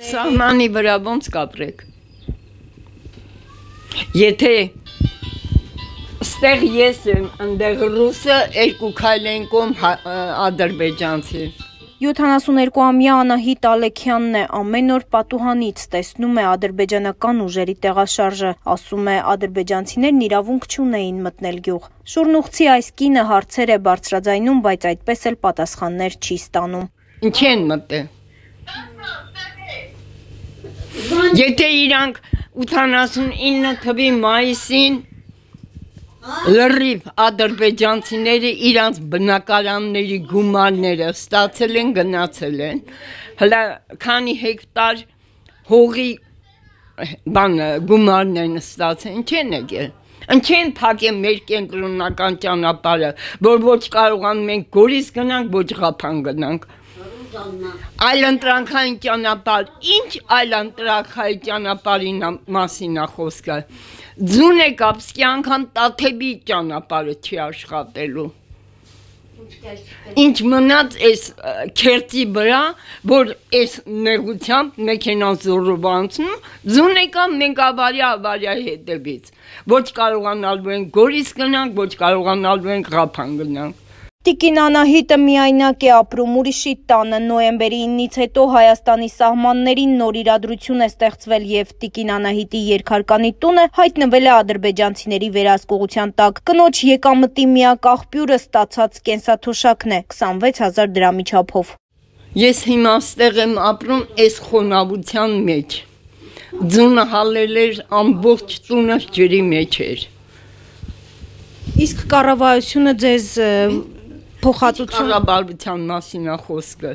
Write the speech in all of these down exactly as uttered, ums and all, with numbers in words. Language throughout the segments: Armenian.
Սահմանի վրա ոնց կապրեք։ Եթե ստեղ ես եմ, ընդեղ ռուսը, երկու քայլ են կողմ ադրբեջանցի։ յոթանասուներկուամյա Անահիտ Ալեքյանն է, ամեն օր պատուհանից տեսնում է ադրբեջանական ուժերի տեղաշարժը, ասում է ադրբեջանցիներն իրավունք չունեին մտնել գյուղ։ Շուրնուղցի այս կինը հարցեր է բարձրաձայնում, բայց այդպես էլ պատասխաններ չի ստանում։ Ինչի են մտել։ Եթե իրանք ութանասունինը թվականի մայիսին լրիվ ադրբեջանցիները իրանց բնակարանների գումարները ստացել են, գնացել են, հլա քանի հեկտար հողի բան գումարներն ստացել, ինչ են եկել, ինչ են փակել մեր կենտրոնական ճանապարհը, որ ոչ կարողանում ենք Գորիս գնանք, ոչ Ղափան գնանք։ Այլընտրանքային ճանապարհ, ինչ այլընտրանքային ճանապարհի մասին է խոսքը։ Ձուն է կապսկի անգամ Տաթևի ճանապարհը չի աշխատելու։ Ինչ մնաց այս քերծի վրա, որ այս նեղությամբ մեքենան զորով անցնում, ձուն է կամ մենք ավարյա ավարյա հետևից։ Ոչ կարողանալու ենք Գորիս գնանք, ոչ կարողանալու ենք Ղափան գնանք։ Տիկին Անահիտը միայնակ է ապրում ուրիշի տանը, նոյեմբերի իննից հետո Հայաստանի սահմաններին նոր իրադրություն է ստեղծվել եւ Տիկին Անահիտի երկհարկանի տունը հայտնվել է ադրբեջանցիների վերահսկողության տակ։ Կնոջ եկամտի միակ աղբյուրը ստացած կենսաթոշակն է քսանվեց հազար դրամի չափով։ Ես հիմա ստեղ եմ ապրում այս խոնավության մեջ։ Ձունը հալել էր, ամբողջ տունը ջրի մեջ էր։ Իսկ կառավարությունը ձեզ փոխհատուցում կառավարության մասին է խոսքը։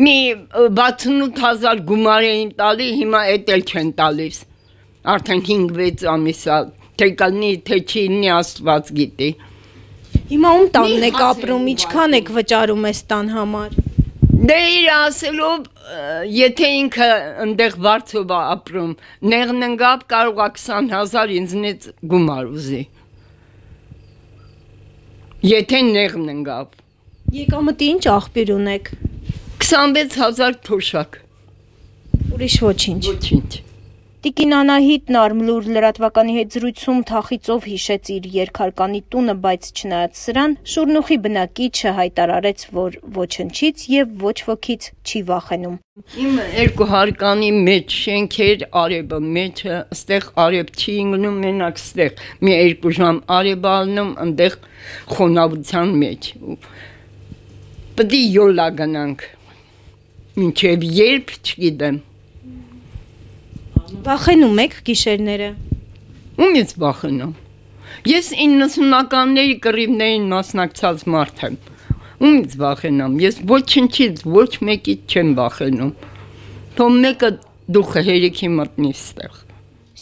Մի վաթսունութ հազար գումար էին տալի, հիմա էդ էլ չեն տալիս։ Արդեն հինգ-վեց ամիս է, թե կլինի, թե չի լինի, Աստված գիտի։ Հիմա ում տանն եք ապրում, ինչքան եք վճարում այս տան համար։ Դե իր ասելով, եթե ինքը ընդեղ վարձով է ապրում, նեղննգավ կարող է քսան հազար ինձնից գումար ուզի։ Եթե նեղն ընկավ։ Եկամտի ինչ աղբյուր ունեք։ քսանվեց հազար թոշակ։ Ուրիշ ոչինչ։ Ոչինչ։ Տիկին Անահիտն Արմլուր լրատվականի հետ զրույցում թախիծով հիշեց իր երկհարկանի տունը, բայց չնայած սրան, Շուրնուխի բնակիչը հայտարարեց, որ ոչնչից եւ ոչ ոքից չի վախենում։ Իմ երկու հարկանի մեջ շենքեր, արևը մեջը, ստեղ արև չի ինգնում, մենակ ստեղ մի երկու ժամ արև ալնում, ընդեղ խոնավության մեջ։ Պետք է յոլա գնանք։ Մինչև երբ չգիտեմ։ Վախենում եք գիշերները։ Ումից վախենամ։ Ես իննսունականների կռիվներին մասնակցած մարդ եմ։ Ումից վախենամ։ Ես ոչնչից ոչ մեկից չեմ վախենում։ Թող մեկը դուխը հերիքի մտնի ստեղ։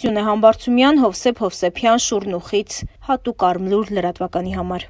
Սյունե Համբարձումյան, Հովսեփ Հովսեփյան, Շուրնուխից, հատուկ Արմլուր լրատվականի համար։